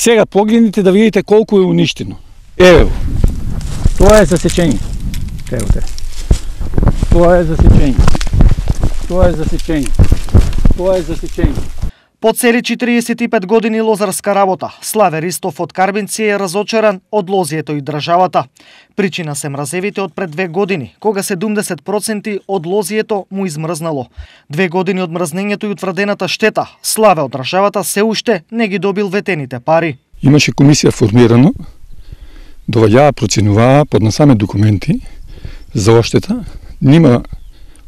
Сега погледнете да видите колку е уништено. Ево, тоа е засечение. Ево те. Тоа е засечение. Тоа е засечение. Тоа е засечение. По цели 45 години лозарска работа, Славе Ристов од Карбинци е разочаран од лозието и државата. Причина се мразевите од пред 2 години, кога 70% од лозието му измрзнало. 2 години од мрзнењето и утврдената штета, Славе од државата се уште не ги добил ветените пари. Имаше комисија формирано, доваѓаа, проценуваа, поднасаме документи за оштета, нема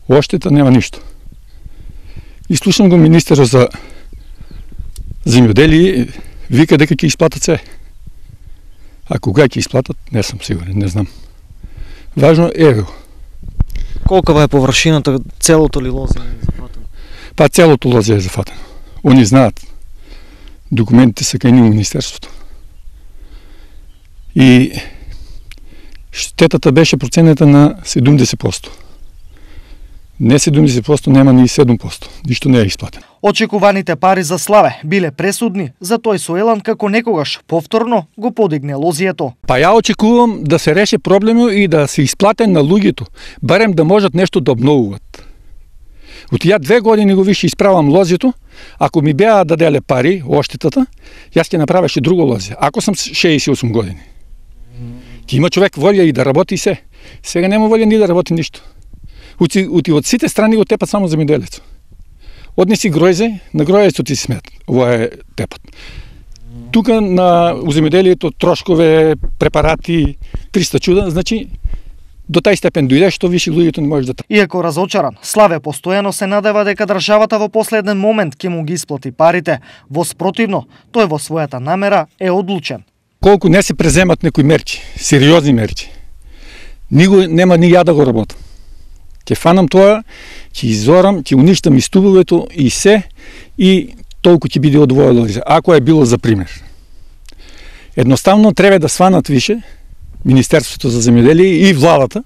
оштета, нема ништо. И слушам го министерот за земјоделие, вика дека ќе исплатат се. А кога ќе исплатат, не сум сигурен, не знам. Важно е. Колкава е површината, целото ли лозие е зафатено? Па целото лозие е зафатено. Они знаат. Документите се кај министерството. И штетата беше проценета на 70%. Не 70%, нема ни 7%. Ништо не е исплатено. Очекуваните пари за Славе биле пресудни, за тој Соелан како некогаш повторно го подигне лозието. Па ја очекувам да се реше проблемот и да се исплате на луѓето, барем да можат нешто да обновуват. От ја 2 години го више исправам лозието, ако ми беа даделе пари, оштетата, јас ќе направеше друго лозие. Ако сам 68 години. Ќе има човек волја и да работи се. Сега нема волја ни да работи ништо. Од сите страни го тепат само земјоделецот. Однеси гројзе, на гројзето ти смет. Ова е тепат. Тука у земјоделието трошкове, препарати, 300 чуда, значи до тај степен дојде што више луѓето не може да. Иако разочаран, Славе постојано се надева дека државата во последен момент ќе му ги исплати парите. Во спротивно, тој во својата намера е одлучен. Колку не се преземат некои мерки, сериозни мерки, нема ни ја да го работам. Ќе фанам тоа, ќе изорам, ќе уништам и стубовето и се, и толку ќе биде одвоено, ако е било за пример. Едноставно треба да сванат више Министерството за земјоделие и владата,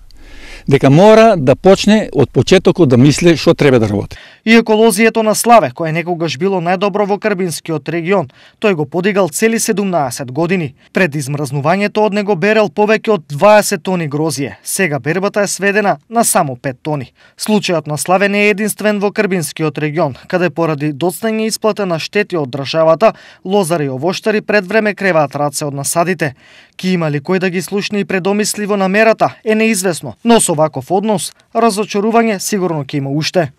дека мора да почне од почетокот да мисли што треба да работи. Иако лозието на Славе, кое некогаш било најдобро во Карбинскиот регион, тој го подигал цели 17 години. Пред измрзнувањето од него берел повеќе од 20 тони грозие. Сега бербата е сведена на само 5 тони. Случајот на Славе не е единствен во Карбинскиот регион, каде поради доцнење исплата на штети од државата, лозари и овоштари пред време креваат раце од насадите. Ки има ли кој да ги слушне и предомисли во намерата е неизвестно, но со ваков однос разочарување сигурно ќе има уште.